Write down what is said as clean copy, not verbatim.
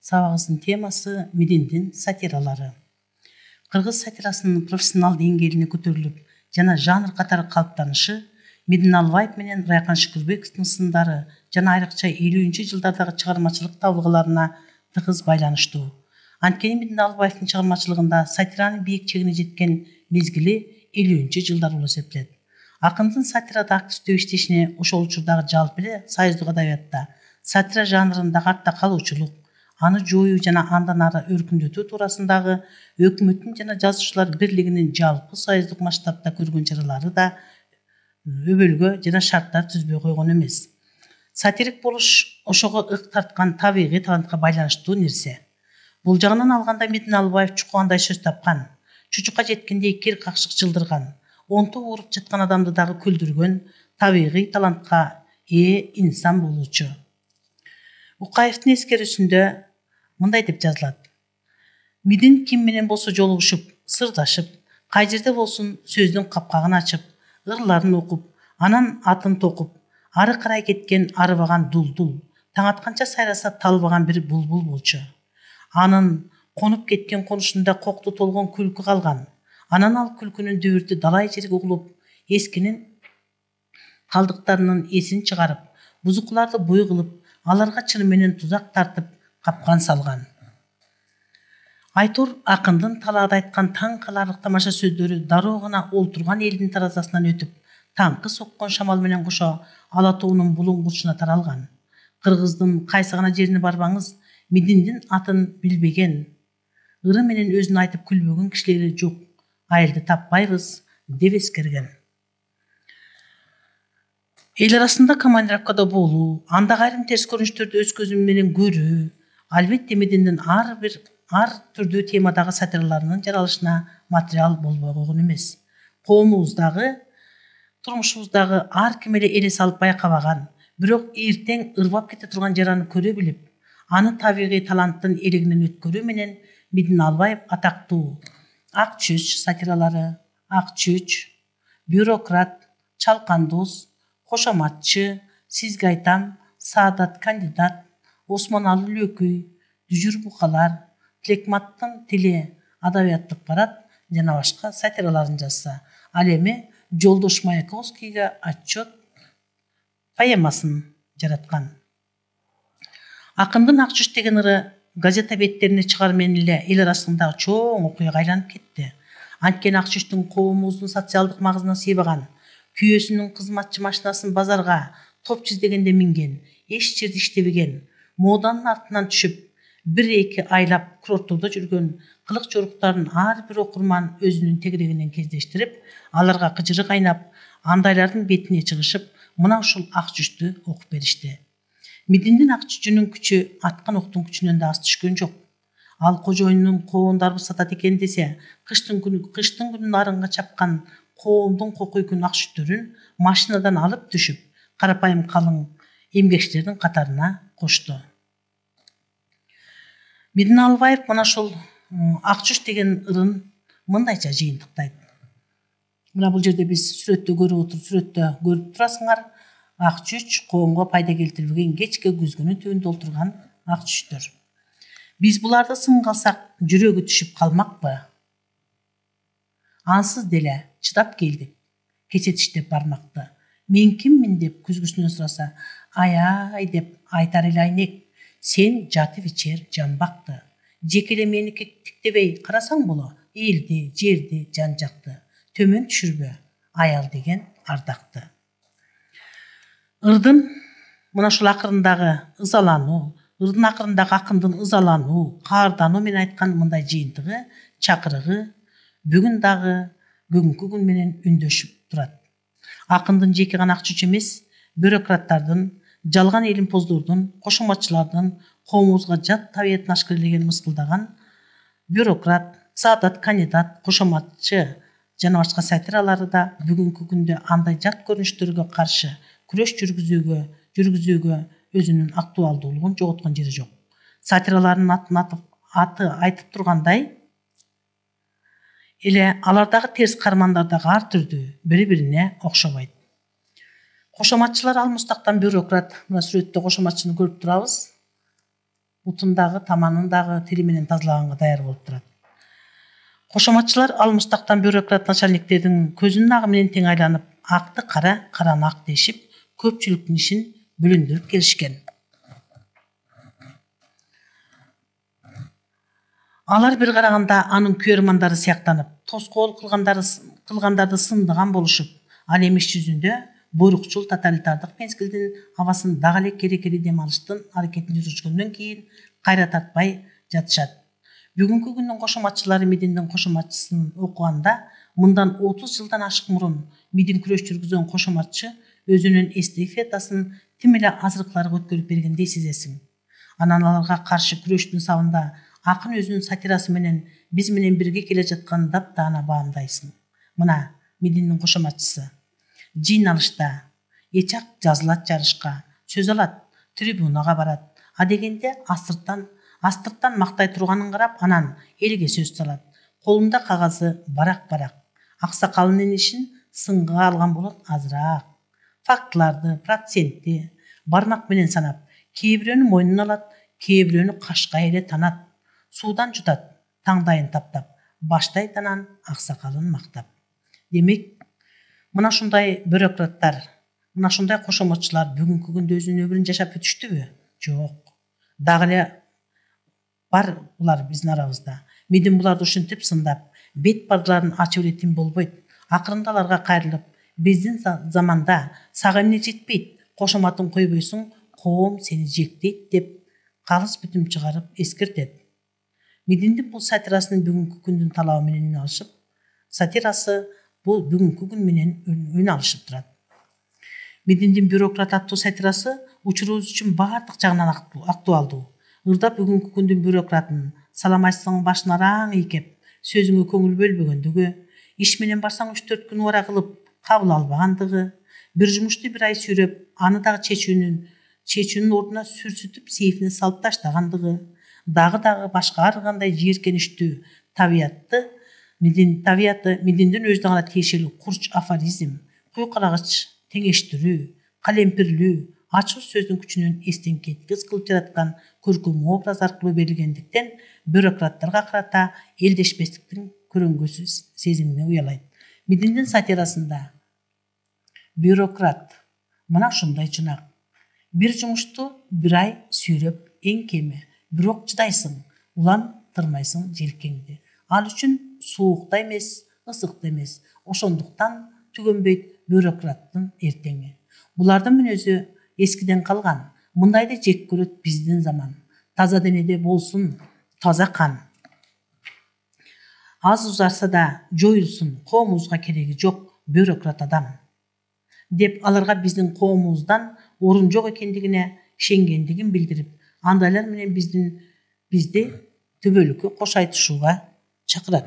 Сабагыбыздын темасы Мединдин сатиралары. Кыргыз сатирасынын профессионал деңгээлине көтөрүлүп жана жанр катары калыптанышы Медин Албаев менен Райкан Шүкүрбековдун сындары жана айрыкча 50-жылдардагы чыгармачылык табылгаларына тыгыз байланыштуу. Анткени Медин Албаевдин чыгармачылыгында сатиранын бийик чегине жеткен мезгили 50-жылдар болуп эсептелет. Акындын сатирада активдүү иштешине ошол учурдагы жалпы эле союздук адабиятта сатира жанрындагы артта калуучулук, аны жоюу жана андан ары өркүндөтүү туурасындагы өкмөттүн жана жазуучулар бирлигинин жалпы союздук масштабта көргөн чаралары да өбөлгө жана шарттар түзбөй койгон эмес. Сатирик болуш ошого ык тарткан табигый талантка байланыштуу нерсе. Бул жагынан алганда Медин Албаев чукугандай сөз тапкан, чучукка жеткендей кер какшык жылдырган, онто ооруп жаткан адамды дагы күлдүргөн табигый талантка ээ инсан болуучу. Укаевдин эскерүүсүндө мындай деп жазылат: Медин ким менен болсо жолугушуп, сырдашып, кай жерде болсун сөздүн капкагын ачып, ырларын окуп, анан атын токуп, ары карай кеткен арыбаган дулдул, таң атканча сайраса талбаган бир булбул болчу. Анын конуп кеткен конушунда кокту толгон күлкү калган. Анан ал күлкүнүн дүбүртү далай жерге угулуп, эскинин калдыктарынын эсин чыгарып, бузукуларды буй кылып, аларга чын менен тузак тартып, капкан салган. Айтор акындын талаада айткан таң каларлык тамаша сөздөрү дароо гана олтурган элдин таразасынан өтүп, таңкы соккон шамал менен кошо ала тоонун булуңгучуна таралган. Кыргыздын кайсы гана жерине барбаңыз, Мединдин атын билбеген, ыры менен өзүн айтып күлбөгөн кишилери жок, айылды таппайбыз деп эскерген. Эл арасында командировкада болуу, андагы айрым терс көрүнүштөрдү өз көзүм менен көрүү, албетте Мединдин ар түрдүү темадагы сатираларынын жаралышына материал болбой койгон эмес. Коомубуздагы, турмушубуздагы ар ким эле элес алып байкабаган, бирок эртең ырбап кете турган жараны көрө билип, аны табигый таланттын элегинен өткөрүү менен Медин Албаев атактуу Ак чөч сатиралары, Ак чөч, Бюрократ, Чалкан дос, Кошоматчы, Сизге айтам, Саадат кандидат, Осмоналы Лөкүй, Дүжүр букалар, Тилекматтын тили, Адабияттык парад жана башка сатираларын жазса, ал эми Жолдош Маяковскийге отчет поэмасын жараткан. Акындын Ак чөч деген ыры газета беттерине чыгар менен эле эл арасындагы чоң окуяга айланып кетти. Анткени Ак чөчтүн коомубуздун социалдык магызына сыйбаган, күйөөсүнүн кызматчы машинасын базарга топ чиздегенде минген, эч жерде иштебеген, моданын артынан түшүп, бир-эки айлап курорттордо жүргөн кылык жоруктарын ар бир окурман өзүнүн тегерегинен кездештирип, аларга кыжыры кайнап, андайлардын бетине чыгышып, мына ушул Ак чөчтү окуп беришти. Мединдин Ак чөчүнүн күчү аткан октун күчүнөн да аз түшкөн жок. Ал кожоюнунун коондарбы сатат экен десе, кыштын күнүн арынга чапкан коомдун кокуй күн ак чөчтөрүн машинадан алып түшүп, карапайым калың эмгекчилердин катарына кошту. Медин Албаев мына ушул Ак чөч деген ырын мындайча жыйынтыктайт. Мына бул жерде биз сүрөттө көрүп турасыңар. Ак чөч коомго пайда келтирбеген кечке күзгүнүн түбүндө олтурган ак чөчтөр. Биз буларды сынга алсак, жүрөгү түшүп калмакпы? Ансыз деле чыдап келдик, кече тиштеп бармакты. Мен киммин деп күзгүсүнөн сураса, ай деп айтар эле айнек, сен жатып ичер жамбакты. Жекеле меники тиктебей карасаң боло, элди, жерди, жан жакты. Төмөн түшүрбө, аял деген ардакты. Ырдын мына ушул акырындагы ызалануу, ырдын акырындагы акындын ызалануу, каардануу менен айткан мындай жыйынтыгы, чакырыгы бүгүн дагы бүгүнкү күн менен үндөшүп турат. Акындын жеке гана Ак чөч эмес, бюрократтардын, жалган элимпоздордун, кошоматчылардын коомубузга жат табиятын ашкерелеген, мыскылдаган Бюрократ, Саадат кандидат, Кошоматчы жана башка сатиралары да бүгүнкү күндө андай жат көрүнүштөргө каршы күрөш жүргүзүүгө өзүнүн актуалдуулугун жоготкон жери жок. Сатираларынын аты айтып тургандай эле алардагы терс кармандар дагы ар түрдүү, бири-бирине окшобойт. Кошоматчылар алмустактан бюрократ, мына сүрөттө кошоматчыны көрүп турабыз. бутун дагы, таманын дагы тили менен тазалаганга даяр болуп турат. Кошоматчылар алмыштактан бюрократ начальниктердин көзүнүн агы менен тең айланып, акты кара, караны ак дешип, көпчүлүктүн ишин бүлүндүрүп келишкен. Алар бир караганда анын күйөрмандары сыяктанып, тоскоол кылгандарды сындыган болушуп, ал эми иш жүзүндө буйрукчул тоталитардык мезгилдин абасын дагы эле керекели дем алыштын аракетин жүргүзгөндөн кийин кайра тартпай жатышат. Бүгүнкү күндүн кошоматчылары МИДиндин кошоматчысын окуганда мындан 30 жылдан ашык мурун МИДин күрөш жүргүзгөн кошоматчы өзүнүн эстафетасын тим эле азыркыларга өткөрүп бергендей сезесиң. Анан аларга каршы күрөштүн сабында акын өзүнүн сатирасы менен биз менен бирге келе жатканын таптаана баамдайсың. Мына МИДиндин кошоматчысы жыйын алышта эчак жазылат жарышка, сөз алат, трибунага барат. А дегенде астырттан мактай турганын карап, анан элге сөз салат. Колунда кагазы барак-барак. Аксакалынын ишин сынга алган болот азыраак. Фактыларды, процентти бармак менен санап, кээ бирөөнү мойнуна алат, кээ бирөөнү кашка эле танат. Суудан жутат, таңдайын таптап, баштайт анан аксакалын мактап. Демек, мына ушундай бюрократтар, мына ушундай кошоматчылар бүгүнкү күндө өзүнүн өмүрүн жашап өтүштүбү? Жок. Дагы эле бар булар биздин арабызда. МИДин буларды ушинтип сындап, бет бардыларын ачып эле тим болбойт. Акырында аларга кайрылып, биздин заманда сага эмне жетпейт, кошоматын койбойсуң, коом сени жектейт деп калыс бүтүм чыгарып эскертет. МИДиндин бул сатирасынын бүгүнкү күндүн талабы менен үн алышып, сатирасы бул бүгүнкү күн менен үн алышып турат. МИДиндин бюрократ аттуу сатирасы учурубуз үчүн баардык жагынан актуалдуу. Ырдап бүгүнкү күндүн бюрократын саламатсың башын араң ийкеп, сөзүңө көңүл бөлбөгөндүгү, иш менен барсаң 3-4 күн убара кылып кабыл албагандыгы, бир жумушту бир ай сүйрөп, аны дагы чечүүнүн ордуна сүрсүтүп сейфине салып таштагандыгы, дагы башка ар кандай жийиркеничтүү табияты МИДиндин өзүнө гана тиешелүү курч афоризм, куйкалагыч теңештирүү, калемпирлүү, ачуу сөздүн күчүнөн эстен кеткис кылып жараткан көркөм образ аркылуу берилгендиктен бюрократтарга карата элдешпестиктин көрөңгүсү сезимине уялайт. МИДиндин сатирасында бюрократ мына ушундай чунак. Бир жумушту бир ай сүйрөп эң кеми, бирок чыдайсың, улантырмайсың желкеңди. Ал үчүн суук да эмес, ысык да эмес. Ошондуктан түгөнбөйт бюрократтын эртеңи. Булардын мүнөзү эскиден калган. Мындайды жек көрөт биздин заман. Таза денеде болсун таза кан. Аз узарса да жоюлсун, коомубузга кереги жок бюрократ адам. Деп аларга биздин коомубуздан орун жок экендигине ишенгендигин билдирип, андайлар менен бизди төбөлүккө кош айтышууга чакырат.